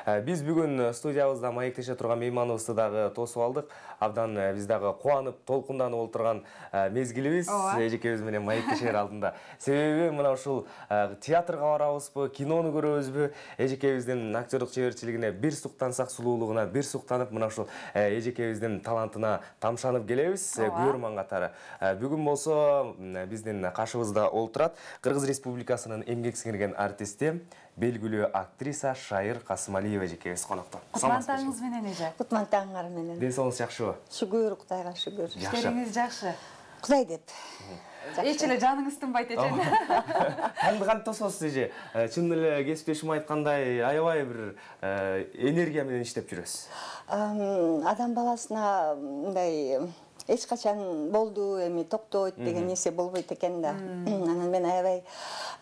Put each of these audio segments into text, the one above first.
Биз бүгүн студиябызда маектеше турган мейманыбызды дагы тосуп алдык. Абдан биз дагы кубанып, толкунданып олтурган мезгилибиз эжекебиз менен маектешер алдында. Себеби мына ушул театрга барабызбы, кинону көрөбүзбү, эжекебиздин актерлук чеберчилигине бир суктансак, сулуулугуна бир суктанып, мына ушул эжекебиздин талантына тамшанып келебиз көрөрман катары. Бүгүн болсо биздин кашыбызда олтурат Кыргыз Республикасынын эмгек сиңирген артисти, белгилүү актриса Шайыр Касымалиева эжекебиз конокто. Кутмантаңыз менен эже. Кутмантаңар менен. Ден соолугуңуз жакшыбы? Шүгүр, Кудайга шүгүр. Иштериңиз жакшы. Кудай деп. Эч эле жаныңыз тынбайт эже. Кантип тососуз эже? Чын эле кесиптешим айткандай, аябай бир энергия менен иштеп жүрөсүз. Адам баласына мындай эч качан болду, эми токтойт деген нерсе болбойт экен да. Анан мен аябай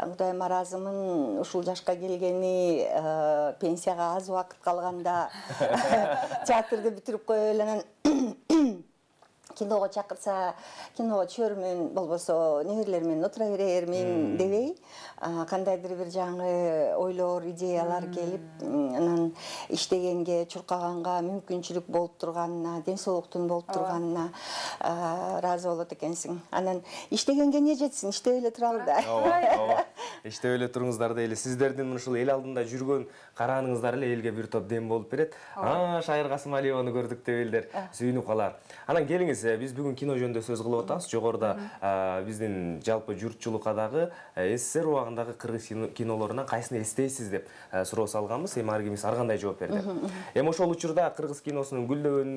Кудайыма ыраазымын, ушул жашка келгени, пенсияга аз убакыт калганда театрды бүтүрүп коюп эле анан киного чакырса, киного түшөрмүн, болбосо неберелер менен отура берермин дебей, кандайдыр бир жаңы ойлор, идеялар келип, анан иштегенге, чуркаганга мүмкүнчүлүк болуп турганына, ден соолуктун болуп турганына ыраазы болот экенсиң. Анан иштегенге эмне жетсин, иштеп эле туралы да. Ооба. Иштеп эле туруңуздар дейли. Сиздердин ушул эл алдында жүргөн карааныңыздар эле элге бир топ дем болуп берет. Шайыр Касымалиеваны көрдүк деп элдер сүйүнүп калар. Анан келиңиз, биз бүгүн кино жөнүндө сөз кылып атабыз. Жогоруда биздин жалпы журтчулукка дагы СССР убагындагы кыргыз кинолорунан кайсыны эстейсиз деп суроо салганбыз. Эми ар кимиз ар кандай жооп берди. Эми ошол учурда кыргыз киносунун гүлдөгөн,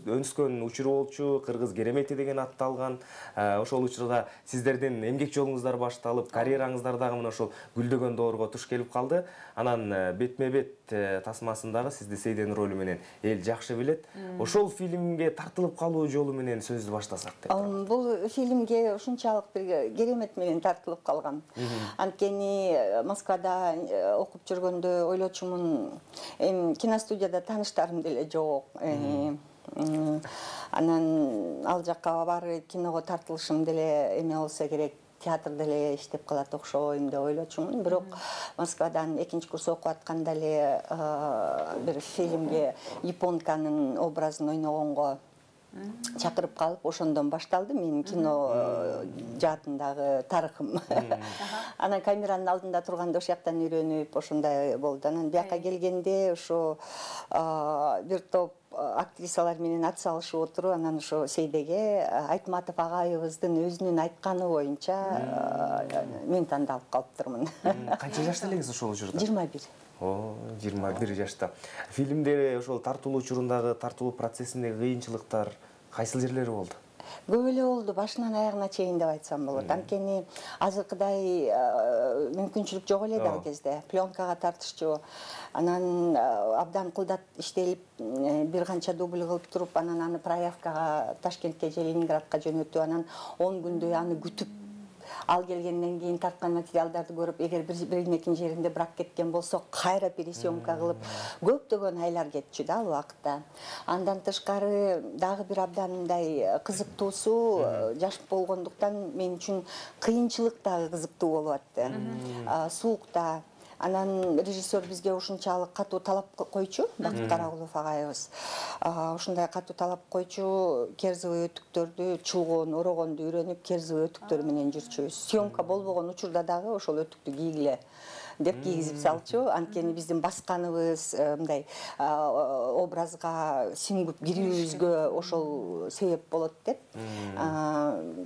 өнүскөн учуру болчу, Кыргыз керемети деген атты алган. Ошол учурда сиздердин эмгек жолуңуздар башталып, карьераңыздар дагы мына ошол гүлдөгөн доорго туш келип калды. Анан бетме-бет тасмасындагы сизди Сейден ролу менен эл жакшы билет. Ошол фильмге тартылып калуу жолу менен сөздү баштасак деп. Бул фильмге ушунчалык бир керемет менен тартылып калгам. Анткени Москвада окуп жүргөндө ойлочумун, эми киностудияда тааныштарым деле жок. Анан ал жакка барып киного тартылышым деле эме болсо керек, театрда эле иштеп калат окшойм деп ойлочумун. Бирок Москвадан экинчи курс окуп атканда эле бир фильмге японканын образын ойногонго чакырып калып, ошондон башталды менин кино жаатындагы тарыхым. Анан камеранын алдында турганда ошол жактан үйрөнүп, ошондой болду. Анан бияка келгенде ошо бир топ актрисалар менен ат салышып отуруп, анан ошо Сейдеге Айтматов агайыбыздын өзүнүн айтканы боюнча мен тандалып калыптырмын. Канча жашта элеңиз ошол учурда? 21. 21 жашта. Фильмде ошол тартылуу учурундагы, тартылуу процессиндеги кыйынчылыктар кайсыл жерлери болду? Көп эле болду, башынан аягына чейин деп айтсам болот. Анткени азыркыдай мүмкүнчүлүк жок эле да ал кезде. Пленкага тартышчу. Анан абдан кылдат иштелип, бир канча дубль кылып туруп, анан аны проявкага Ташкентке же Ленинградка жөнөтүп, анан 10 күндөй аны күтүп, ал келгенден кийин тарткан материалдарды көрүп, эгер биринекин жеринде брак кеткен болсо, кайра пересъемка кылып, көптөгөн айлар кетчү да ал убакытта. Андан тышкары дагы бир абдан мындай кызыктуусу, жаш болгондуктан мен үчүн кыйынчылык дагы кызыктуу болуп атты. Суукта. Анан режиссер бизге ушунчалык катуу талап койчу, Бакыт Карагулов агайыбыз. Ушундай катуу талап койчу, керзовый өтүктөрдү, чулгоон, орогонду үйрөнүп, керзовый өтүктөр менен жүрчүбүз. Съемка болбогон учурда дагы ошол өтүктү кийгиле деп кийгизип салчу. Анткени биздин басканыбыз, мындай образга сиңип кирүүбүзгө ошол себеп болот деп.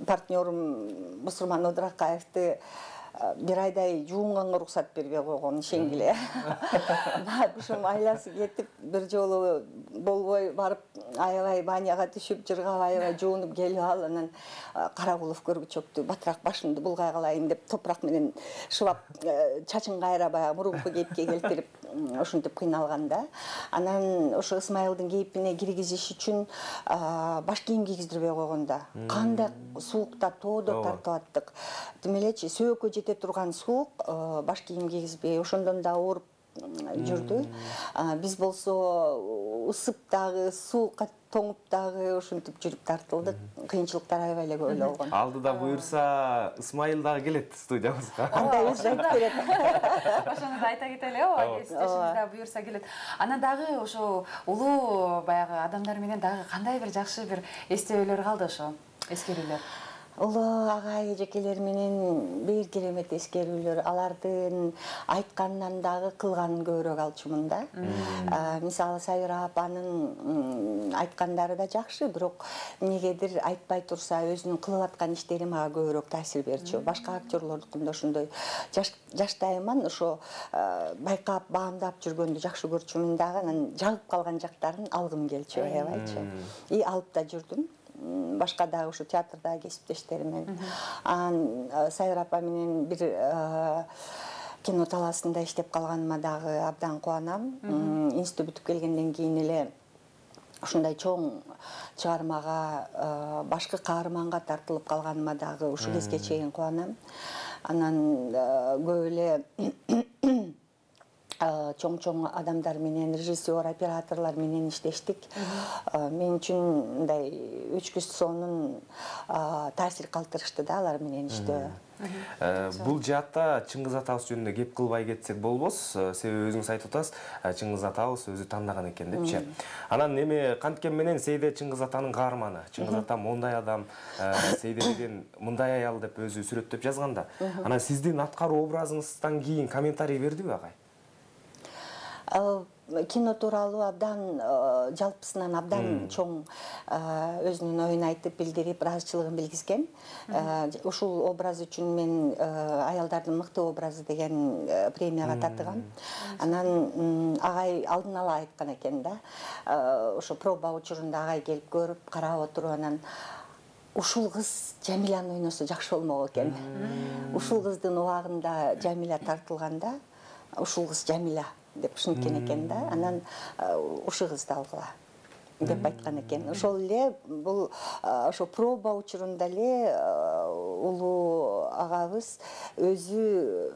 Партнерым Бусурман Одуракаевди бир айдай жуунганга уруксат бербей койгон шеңгиле. Башым айласы кетип, бир жолу болбой барып, аябай баняга түшүп, жыргап, аябай жуунуп келип ал, анан Карагулов көргүчөктү, батыраак башымды булгай калайын деп топурак менен шыбап, чачын кайра баягы мурунку кейипке келтирип, ошентип кыйналганда. Анан ошо Ысмайылдын кейипине киргизиш үчүн баш кийим кийгиздирбей койгонда. Кандай суукта тоодо тартып аттык. Демелечи, сөөккө жете турган суук, баш кийим кийгизбей, ошондон да ооруп жүрдү. Биз болсо ысып дагы, суукка тоңуп дагы ушинтип жүрүп тартылдык. Кыйынчылыктар аябай эле көп эле болгон. Алдыда буюрса Ысмайыл дагы келет студиябызга. Андай өзү айтып берет. Ошону да айта кетели, ооба, кесиптешибиз да буюрса келет. Анан дагы ошо улуу баягы адамдар менен дагы кандай бир жакшы бир эстебелер калды ошо, эскерүүлөр? Улуу агай эжекелер менен бир керемет эскерүүлөр, алардын айтканынан дагы кылганын көбүрөөк алчумун да. Мисалы Сайра апанын айткандары да жакшы, бирок эмнегедир айтпай турса өзүнүн кылып аткан иштери мага көбүрөөк таасир берчү. Башка актерлордукунда ошондой жаштайыман ошо байкап, баамдап жүргөндү жакшы көрчүмүн дагы, анан жагып калган жактарын алгым келчү, аябайчы. И алып да жүрдүм. Башка дагы ушу театрдагы кесиптештерим менен. Сайра апа менен бир кино талаасында иштеп калганыма дагы абдан кубанам. Институт бүтүп келгенден кийин эле ушундай чоң чыгармага башкы каарманга тартылып калганыма дагы ушул кезге чейин кубанам. Анан көп эле чоң адамдар менен, режиссер, операторлор менен иштештик. Мен үчүн мындай 3 күз сонун таасир калтырышты да алар менен иштөө. Бул жаатта Чыңгыз атабыз жөнүндө кеп кылбай кетсек болбос, себеби өзүңүз айтып атасыз, Чыңгыз атабыз өзү тандаган экен депчи. Анан эми канткен менен Сейде Чыңгыз атанын каарманы. Чыңгыз ата мондай адам, Сейде деген мындай аял деп өзү сүрөттөп жазганда. Анан сиздин аткаруу образыңыздан кийин комментарий бердиби агай? Кино тууралуу абдан жалпысынан абдан чоң өзүнүн оюн айтып, билдирип, ыраазычылыгын билгизген. Ушул образ үчүн мен аялдардын мыкты образы деген премияга татыгам. Анан агай алдын ала айткан экен да. Ошо проба учурунда агай келип көрүп, карап отуруп, анан ушул кыз Жамиляны ойносо жакшы болмок экен. Ушул кыздын убагында Жамиля тартылганда, ушул кыз Жамиля деп ушинткен экен да. Анан ушул кызды алгыла деп айткан экен. Ошол эле бул ошо проба учурунда эле улуу агабыз өзү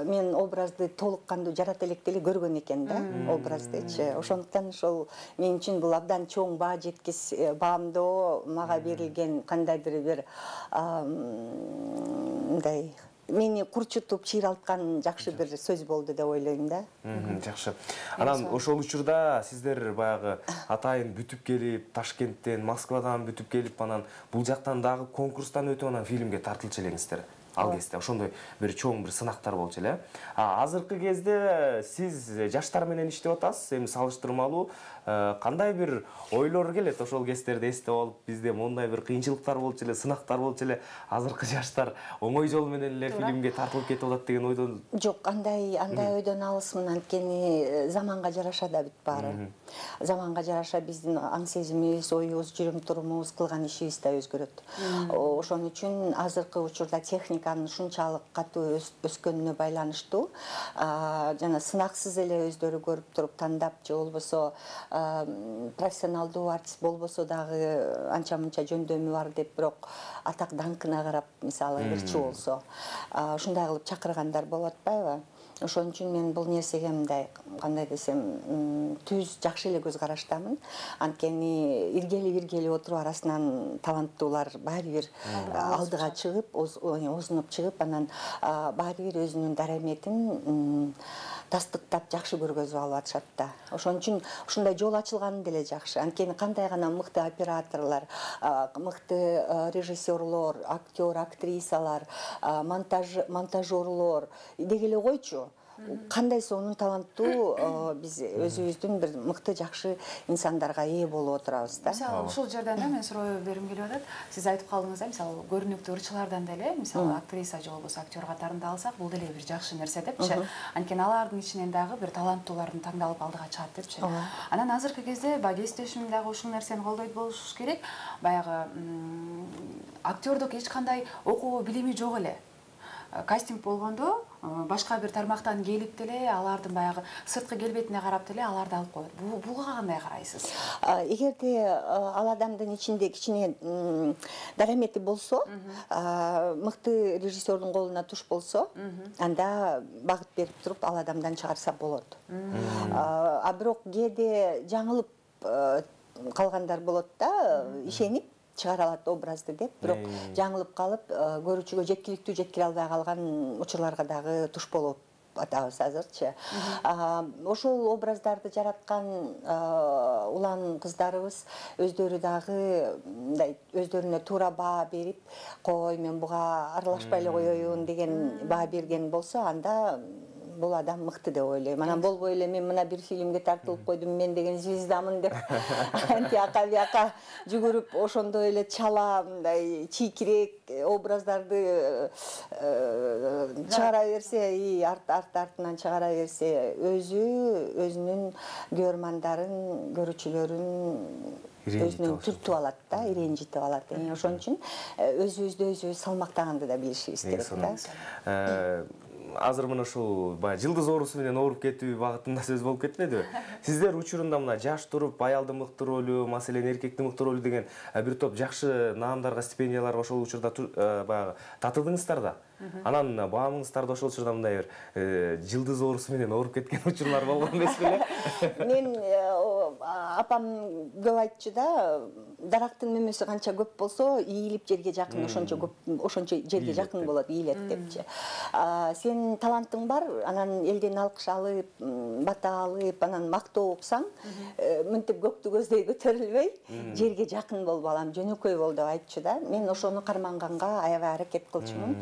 мен образды толук кандуу жарата электе эле көргөн экен да, образдычы. Ошондуктан ошол мен үчүн бул абдан чоң баа жеткис баамдоо, мага берилген кандайдыр бир мындай мени курчутуп чыйралткан жакшы бир сөз болду деп ойлойм да. Жакшы. Анан ошол учурда сиздер баягы атайын бүтүп келип, Ташкенттен, Москвадан бүтүп келип, анан бул жактан дагы конкурстан өтүп анан фильмге тартылчу элеңиздер. Ал кезде ошондой бир чоң бир сынактар болчу эле. Азыркы кезде сиз жаштар менен иштеп атасыз, эми салыштырмалуу кандай бир ойлор келет ошол кездерди эстеп алып, бизде мондай бир кыйынчылыктар болчу эле, сынактар болчу эле, азыркы жаштар оңой жол менен эле фильмге тартылып кетип атат деген ойдон? Жок, андай ойдон алысмын, анткени заманга жараша да бүт баары. Заманга жараша биздин аң сезимибиз, оюбуз, жүрүм турумубуз, кылган ишибиз да өзгөрөт. Ошон үчүн азыркы учурда техниканын ушунчалык катуу өскөнүнө байланыштуу жана сынаксыз эле өздөрү көрүп туруп тандап, же болбосо профессионалдуу артист болбосо дагы анча-мынча жөндөмү бар деп, бирок атак даңкына карап, мисалы ырчы болсо, ушундай кылып чакыргандар болуп атпайбы? Ошон үчүн мен бул нерсеге мындай, кандай десем, түз жакшы эле көз караштамын. Анткени иргели отуруп арасынан таланттуулар баары бир алдыга чыгып, озунуп чыгып, анан баары бир өзүнүн дараметин тастыктап жакшы көргөзүп алып атышат да. Ошон үчүн ушундай жол ачылганы деле жакшы. Анткени кандай гана мыкты операторлор, мыкты режиссерлор, актер, актрисалар, монтажерлор деги эле койчу. Кандай сонун таланттуу биз өзүбүздүн бир мыкты жакшы инсандарга ээ болуп отурабыз да. Мисалы, ушул жерден да мен суроо бергим келип атат. Сиз айтып калдыңыз да, мисалы, көрүнүктүү ырчылардан деле, мисалы, актриса же болбосо актер катарында алсак, бул деле бир жакшы нерсе депчи. Анткени алардын ичинен дагы бир таланттуулардын тандалып алдыга чыгат депчи. Анан азыркы кезде баягы кесиптешим дагы ушул нерсени колдойт болуш керек. Баягы актердук эч кандай окуу билими жок эле. Кастинг болгондо башка бир тармактан келип деле алардын баягы сырткы келбетине карап деле аларды алып коет. Буга кандай карайсыз? Эгерде ал адамдын ичинде кичине дарамети болсо, мыкты режиссердун колуна туш болсо, анда багыт берип туруп ал адамдан чыгарса болот. А бирок кээде жаңылып калгандар болот да, ишенип чыгара алат образды деп, бирок жаңылып калып, көрүүчүгө жеткиликтүү жеткире албай калган учурларга дагы туш болуп атабыз азырчы. Ошол образдарды жараткан улан кыздарыбыз өздөрү дагы мындай өздөрүнө туура баа берип, кой мен буга аралашпай эле коеюн деген баа берген болсо, анда бул адам мыкты деп ойлойм. Анан болбой эле мен мына бир фильмге тартылып койдум, мен деген звездамын деп антияка бияка жүгүрүп ошондой эле чала мындай чийкирээк образдарды чыгара берсе, артынан чыгара берсе, өзүнүн көрөрмандарын, көрүүчүлөрүн өзүнөн түртүп алат да, иренжитип алат. Ошон үчүн өзүбүздү өзүбүз салмактаганды да билишибиз керек да. Азыр мына ушул баягы жылдыз оорусу менен ооруп кетүү багытында сөз болуп кетмедиби? Сиздер учурунда мына жаш туруп аялдын мыкты ролу, маселен эркектин мыкты ролу деген бир топ жакшы наамдарга, стипендияларга ошол учурда баягы татыдыңыздар да. Анан баамыңыздарды ошол учурда мындай бир жылдыз оорусу менен ооруп кеткен учурлар болгон эмес беле? Мен апам көп айтчу да, дарактын мөмөсү канча көп болсо, ийилип жерге жакын ошончо жерге жакын болот, ийилет депчи. Сен талантың бар, анан элден алкыш алып, бата алып, анан мактоо уксаң, мынтип көктү көздөй көтөрүлбөй, жерге жакын бол балам, жөнөкөй бол деп айтчу да. Мен ошону карманганга аябай аракет кылчумун.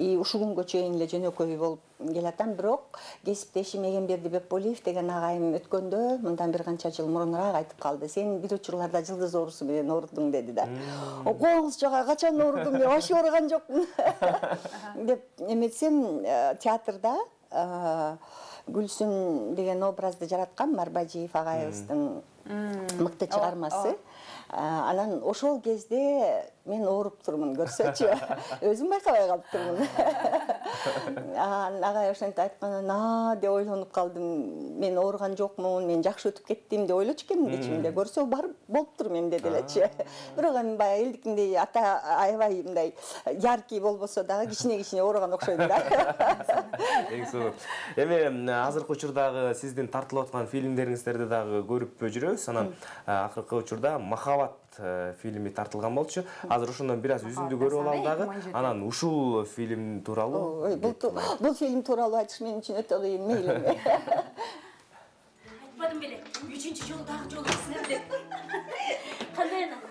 Ушул күнгө чейин эле жөнөкөй болуп келатам, бирок кесиптешим Эгемберди Бекболиев деген агайым өткөндө, мындан бир канча жыл мурунураак айтып калды. Сен бир учурларда жылдыз оорусу менен оорудуң деди да. Коңуз жага качан оорудум, мен вообще ооруган жокмун деп эметсем, театрда Гүлсүн деген образды жараткан Марбажиев агайыбыздын мыкты чыгармасы. Анан ошол кезде мен ооруп турмун, көрсөчү. Өзүм байкабай калыптырмын. Агай ошентип айткандан, деп ойлонуп калдым. Мен ооруган жокмун, мен жакшы өтүп кеттим деп ойлочу экенмин ичимде. Көрсө бар болуптур менде делечи. Бирок эми баягы элдикиндей ата аябай мындай яркий болбосо дагы кичине ооруган окшойм да. Эң сонун. Эми азыркы учурдагы сиздин тартылып аткан фильмдериңиздерди дагы көрүп жүрөбүз. Анан акыркы учурда Махабат фильми тартылган болчу. Азыр ошондон бир аз үзүндү көрүп алалы дагы. Анан ушул фильм тууралуу. Бул фильм тууралуу айтыш мен үчүн өтө кыйын, мейлиңби? Айтпадым беле, 3-чү жолу дагы жолугусуна деп. Кандай анан?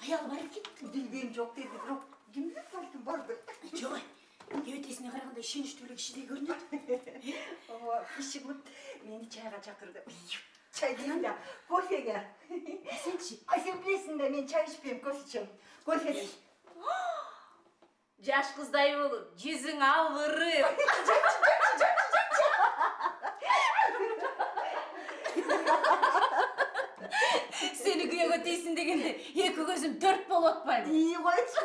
Аял бар экен? Билбейм, жок деди, бирок кимдир балким бардыр. Жок, кебетесине караганда ишеничтүү эле кишидей көрүнөт. Ооба, иши кылып мени чайга чакырды. Чай дейм да, кофеге. Сенчи? Сен билесиң да, мен чай ичпейм, кофе ичем. Кофе. Жаш кыздай болуп, жүзүң албырып. Сени күйөөгө тийсин дегенде, эки көзүм 4 болуп атпайбы? Койчу.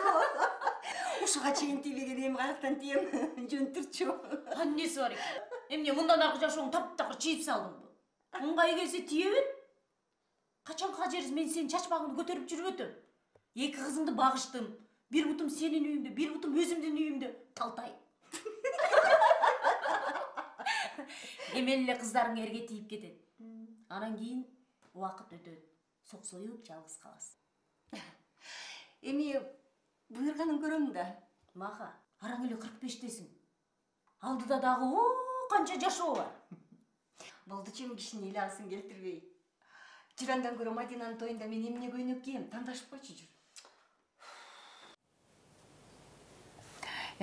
Ушуга чейин тийбеген эми каяктан тием, жөн турчу. Аннеси бар экен. Эмне мындан аркы жашооң таптакыр чийип салдыңбы? Ыңгай келсе тие бер. Качан кажериз мен сенин чачпагыңды көтөрүп жүрүп өтөм. Эки кызыңды багыштым. Бир бутум сенин үйүңдө, бир бутум өзүмдүн үйүмдө талтай. Эмел эле кыздарың эрге тийип кетет. Анан кийин убакыт өтөт. Соксоюп жалгыз каласың. Эми буйруганын көрөм да. Маха, араң эле 45-тесиң. Алдыда дагы канча жашоо бар. Болдучу кишини эле алсын келтирбей. Жырандан көрө Мадинанын тоюнда мен эмне көйнөк кийем, тандашып койчу жүр.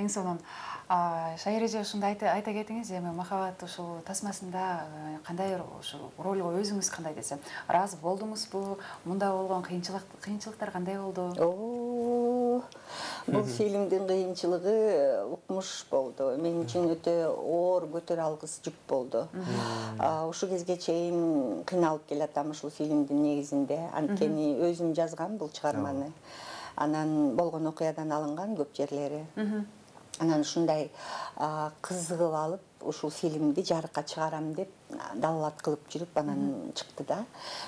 Эң сонун. Шайреже ушундай айта кетиңиз, эми Махабат ушул тасмасында кандай ушул ролго өзүңүз кандай десем, ыраазы болдуңузбу? Мында болгон кыйынчылыктар кандай болду? Бул фильмдин кыйынчылыгы укмуш болду. Мен үчүн өтө оор, көтөрө алгыс жүк болду. Ушул кезге чейин кыйналып келатам ушул фильмдин негизинде. Анткени өзүм жазгам бул чыгарманы. Анан болгон окуядан алынган көп жерлери. Анан ушундай кызыгып алып ушул фильмди жарыкка чыгарам деп далалат кылып жүрүп анан чыкты да.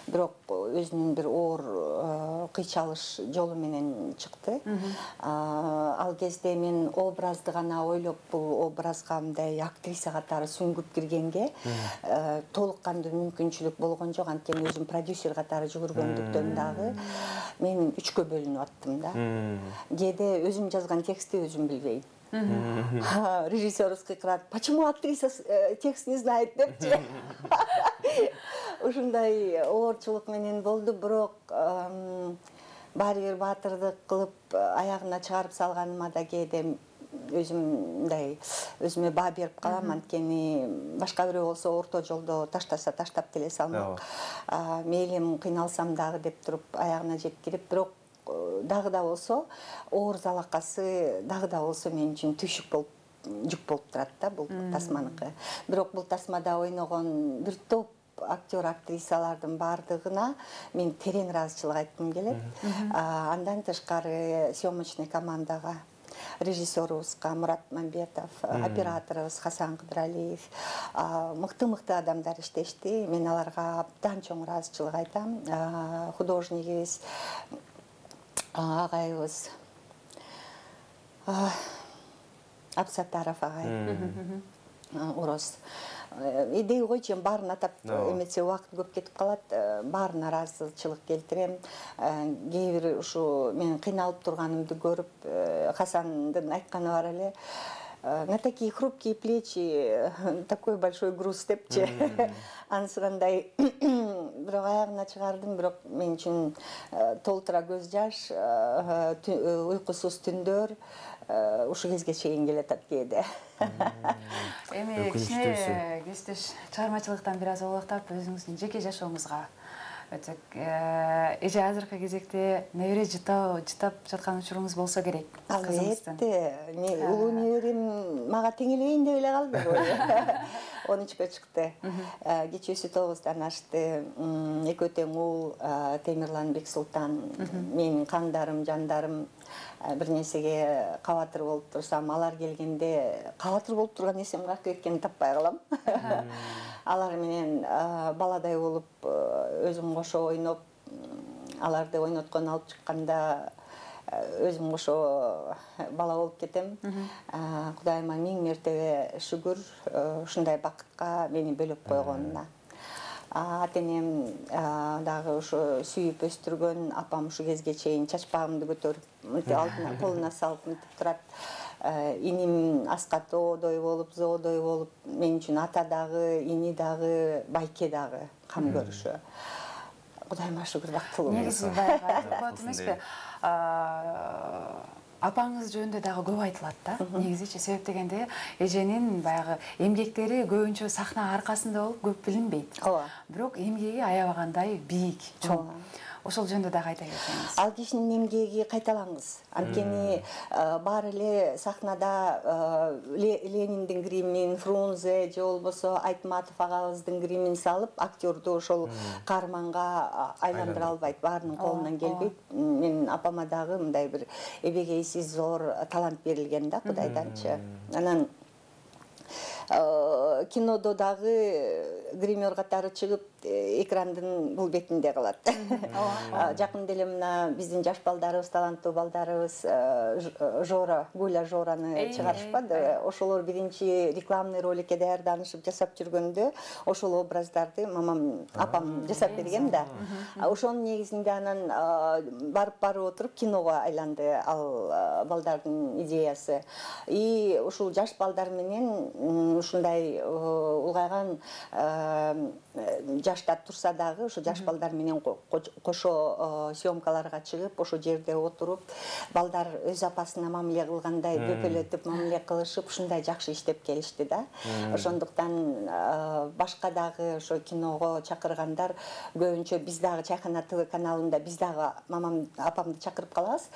Бирок өзүнүн бир оор кыйчалыш жолу менен чыкты. Ал кезде мен образды гана ойлоп бул образга мындай актриса катары сүңгүп киргенге толук кандуу мүмкүнчүлүк болгон жок. Анткени өзүм продюсер катары жүгүргөндүктөн дагы мен 3кө бөлүнүп аттым да. Кээде өзүм жазган текстти өзүм билбейм. Режиссер кыйкырат: "Почему актриса текст не знает?" депчи. Ушундай оорчулук менен болду, бирок баары бир баатырдык кылып аягына чыгарып салганыма да кээде өзүм мындай өзүмө баа берип калам. Анткени башка бирөө болсо орто жолдо таштаса таштап деле салмак. Мейлим кыйналсам дагы деп туруп аягына жеткирип, бирок дагы да болсо оор залакасы дагы да болсо мен үчүн түйшүк болуп жүк болуп турат да бул тасманыкы. Бирок бул тасмада ойногон бир топ актер актрисалардын баардыгына мен терең ыраазычылык айткым келет. Андан тышкары съемочный командага, режиссерубузга Мурат Мамбетов, операторубуз Хасан Кыдыралиев, мыкты адамдар иштешти. Мен аларга абдан чоң ыраазычылык айтам. Художнигибиз агайыбыз Абсатаров агай, Урос. Идей койчу, баарын атап эмесе убакыт көп кетип калат. Баарына ыраазычылык келтирем. Кээ бир ушу мен кыйналып турганымды көрүп, Хасандын айтканы бар эле: "На такие хрупкие плечи такой большой груз" депчи. Анысыгандай бирок аягына чыгардым, бирок мен үчүн толтура көз жаш, уйкусуз түндөр ушу кезге чейин келатат кээде. Эми кичине кесиптеш чыгармачылыктан бир аз олактап өзүңүздүн жеке жашооңузга өтөк. Эже азыркы кезекте небере жытап жаткан учуруңуз болсо керек. Албетте, улуу неберем мага теңелбейин деп эле калды. 13кө чыкты. Кечүүсү 9-дан ашты. Экөө тең уул Темирлан Бексултан, менин кандарым, жандарым. Бир нерсеге кабатыр болуп турсам, алар келгенде кабатыр болуп турган нерсем каяка кеткенин таппай калам. Алар менен баладай болуп өзүм кошо ойноп, аларды ойноткон алып чыкканда өзүм кошо бала болуп кетем. Кудайыма миң мертебе шүгүр ушундай бакытка мени бөлөп койгонуна. Ата-энем дагы ошо сүйүп өстүргөн, апам ушу кезге чейин чачпагымды көтөрүп алдына колуна салып мынтип турат. Иним Аскат оодой болуп, зоодой болуп, мен үчүн ата дагы, ини дагы, байке дагы кам көрүшү. Кудайыма шүгүр, бактылуу. Негизи байкалат эмеспи? Апаңыз жөнүндө дагы көп айтылат да. Негизичи себеп дегенде эженин баягы эмгектери көбүнчө сахна аркасында болуп көп билинбейт. Бирок эмгеги аябагандай бийик, чоң. Ошол жөнүндө дагы айта кетсеңиз. Ал кишинин эмгеги кайталаңыз. Анткени баары эле сахнада Лениндин гримин, Фрунзе же болбосо Айтматов агабыздын гримин салып, актерду ошол каарманга айландыра албайт, баарынын колунан келбейт. Менин апама дагы мындай бир эбегейсиз зор талант берилген да Кудайданчы. Анан кинодо дагы гример катары чыгып экрандын бул бетинде калат. Жакында эле мына биздин жаш балдарыбыз, таланттуу балдарыбыз Жора, Гуля Жораны чыгарышпады. Ошолор биринчи рекламный роликке даярданышып жасап жүргөндө ошол образдарды мамам, апам жасап берген да. Ошонун негизинде анан барып отуруп киного айланды ал балдардын идеясы. И ушул жаш балдар менен ушундай улгайган жашта турса дагы ушу жаш балдар менен кошо съемкаларга чыгып, ошо жерде отуруп, балдар өз апасына мамиле кылгандай бөпөлөтүп мамиле кылышып, ушундай жакшы иштеп келишти да. Ошондуктан башка дагы ошо киного чакыргандар көбүнчө биз дагы Чайкана ТВ каналында биз дагы мамам, апамды чакырып калабыз.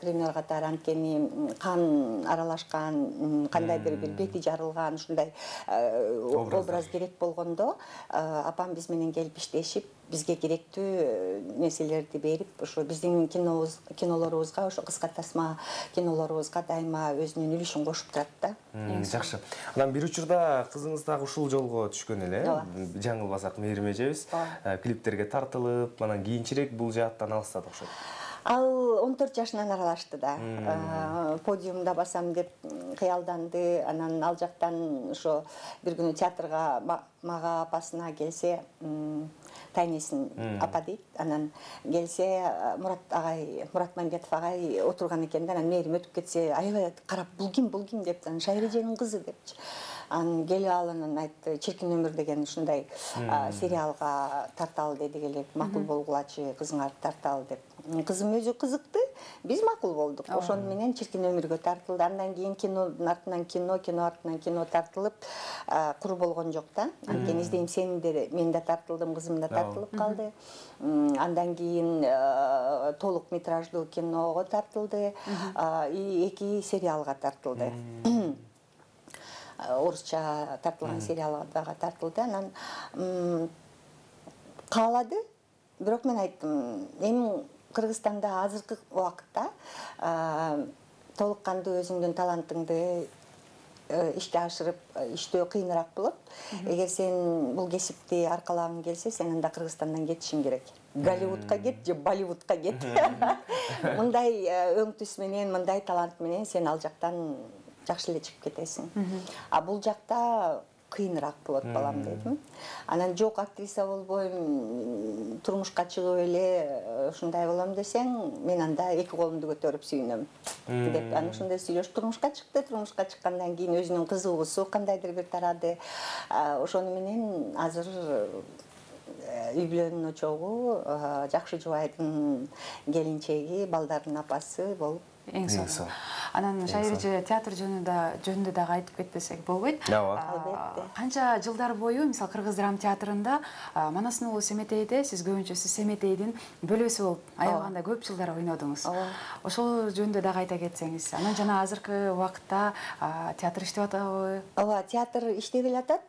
Гример катары, анткени кан аралашкан, кандайдыр бир бети жарылган чыгарылган ушундай образ керек болгондо апам биз менен келип иштешип, бизге керектүү нерселерди берип, ошо биздин кинолорубузга, ошо кыска тасма кинолорубузга дайыма өзүнүн үлүшүн кошуп турат да. Жакшы. Анан бир учурда кызыңыз дагы ушул жолго түшкөн эле, жаңылбасак Мээрим эжебиз, клиптерге тартылып, анан кийинчерээк бул жааттан алыстады окшойт. Ал 14 жашынан аралашты да. Подиумда басам деп кыялданды. Анан ал жактан ошо бир күнү театрга мага апасына келсе, тайнесин апа дейт. Анан келсе Мурат Мамбетов агай отурган экен да. Анан Мээрим өтүп кетсе, аябай карап, бул ким деп, анан Шайыр эженин кызы депчи. Анан келип алып айтты, Чиркин өмүр деген ушундай сериалга тарталы деди, келип макул болгулачы кызыңарды тарталы деп. Кызым өзү кызыкты, биз макул болдук. Ошону менен Чиркин өмүргө тартылды. Андан кийин кинонун артынан кино артынан кино тартылып, кур болгон жок да. Анткени издейм сени деле мен да тартылдым, кызым да тартылып калды. Андан кийин толук метраждуу киного тартылды, 2 сериалга тартылды. Орусча тартылган сериалга дагы тартылды. Анан каалады. Бирок мен айттым, эми Кыргызстанда азыркы убакытта толук кандуу өзүңдүн талантыңды ишке ашырып иштөө кыйыныраак болот. Эгер сен бул кесипти аркалагың келсе, сен анда Кыргызстандан кетишиң керек. Голливудка кет же Болливудка кет. Мындай өң түс менен, мындай талант менен сен ал жактан жакшы эле чыгып кетесиң. А бул жакта кыйыныраак болот балам дедим. Анан жок, актриса болбойм, турмушка чыгып эле ушундай болом десең, мен анда 2 колумду көтөрүп сүйүнөм деп. Анан ушундай сүйлөшүп турмушка чыкты. Турмушка чыккандан кийин өзүнүн кызыгуусу кандайдыр бир тарады. Ошону менен азыр үй бүлөнүн очогу, жакшы жубайдын келинчеги, балдардын апасы болуп эң сонун. Анан Шайыр эже театр жөнүндө дагы айтып кетпесек болбойт. Албетте. Канча жылдар бою, мисалы Кыргыз драма театрында Манастын уулу Семетейде сиз көбүнчө сиз Семетейдин бөлөсү болуп аябаганда көп жылдар ойнодуңуз. Ошол жөнүндө дагы айта кетсеңиз. Анан жана азыркы убакытта театр иштеп атабы? Ооба, театр иштеп атат.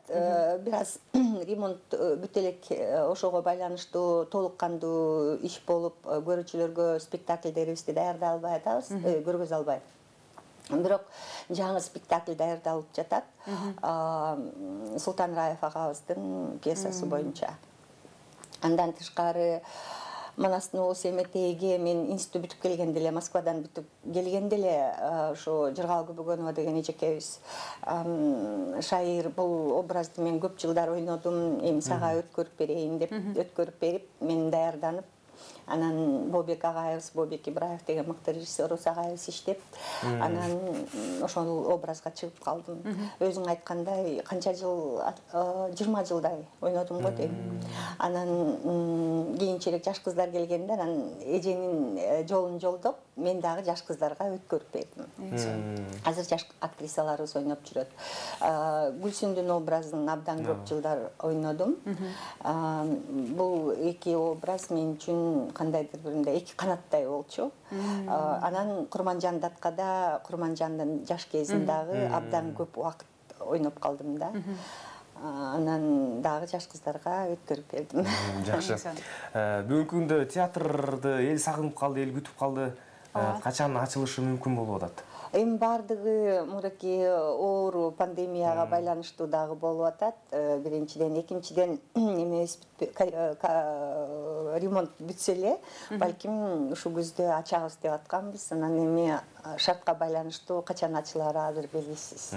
Бир аз ремонт бүтө элек, ошого байланыштуу толук кандуу иш болуп, көрүүчүлөргө спектакльдерибизди даярдай албай атабыз, көргөзө албай. Бирок жаңы спектакль даярдалып жатат. Султан Раев агабыздын пьесасы боюнча. Андан тышкары Манастын уулу Семетейге мен институт бүтүп келгенде эле, Москвадан бүтүп келгенде эле, ошо Жыргал Күбөгөнова деген эжекебиз, Шайыр бул образды мен көп жылдар ойнодум, эми сага өткөрүп берейин деп өткөрүп берип, мен даярданып, анан Бобек агайыбыз, Бобек Ибраев деген мыкты режиссерубуз агайыбыз иштеп, анан ошол образга чыгып калдым. Өзүң айткандай, канча жыл, 20 жылдай ойнодум го дейм. Анан кийинчерээк жаш кыздар келгенде, анан эженин жолун жолдоп, мен дагы жаш кыздарга өткөрүп бердим. Азыр жаш актрисаларыбыз ойноп жүрөт. Гүлсүндүн образын абдан көп жылдар ойнодум. Бул 2 образ мен үчүн кандайдыр биринде 2 канаттай болчу. Анан Курманжан Даткада, Курманжандын жаш кезин дагы абдан көп убакыт ойноп калдым да. Анан дагы жаш кыздарга өткөрүп бердим. Жакшы. Бүгүнкү күндө театрды эл сагынып калды, эл күтүп калды. Качан ачылышы мүмкүн болуп атат? Эми баардыгы мурдаки оору пандемияга байланыштуу дагы болуп атат. Биринчиден, экинчиден эмебиз ремонт бүтсө эле, балким ушу күздө ачабыз деп атканбыз. Анан эми шартка байланыштуу качан ачылары азыр белгисиз.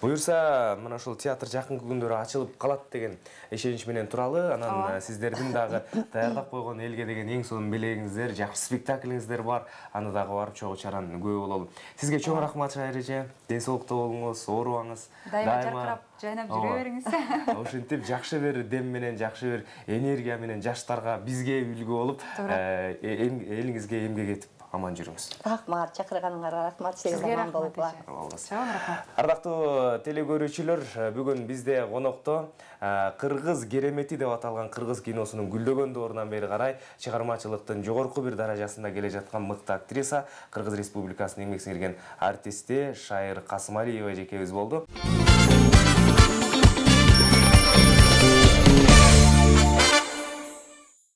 Буюрса, мына ушул театр жакынкы күндөрү ачылып калат деген ишенич менен туралы. Анан сиздердин дагы даярдап койгон элге деген эң сонун белегиңиздер, жакшы спектаклиңиздер бар. Аны дагы барып чогуу чаран күбө бололу. Сизге чоң рахмат Шайыр эже. Ден соолукта болуңуз, оорубаңыз. Дайыма жаркырап, жайнап жүрө бериңиз. Ошентип жакшы бир дем менен, жакшы бир энергия менен жаштарга, бизге үлгү болуп, элиңизге эмгек этип аман жүрүңүз. Рахмат, чакырганыңарга рахмат. Сизге рахмат. Чоң рахмат. Ардактуу телекөрүүчүлөр, бүгүн бизде конокто Кыргыз керемети деп аталган кыргыз киносунун гүлдөгөн доорунан бери карай чыгармачылыктын жогорку бир даражасында келе жаткан мыкты актриса, Кыргыз Республикасынын эмгек сиңирген артисти Шайыр Касымалиева эжекебиз болду.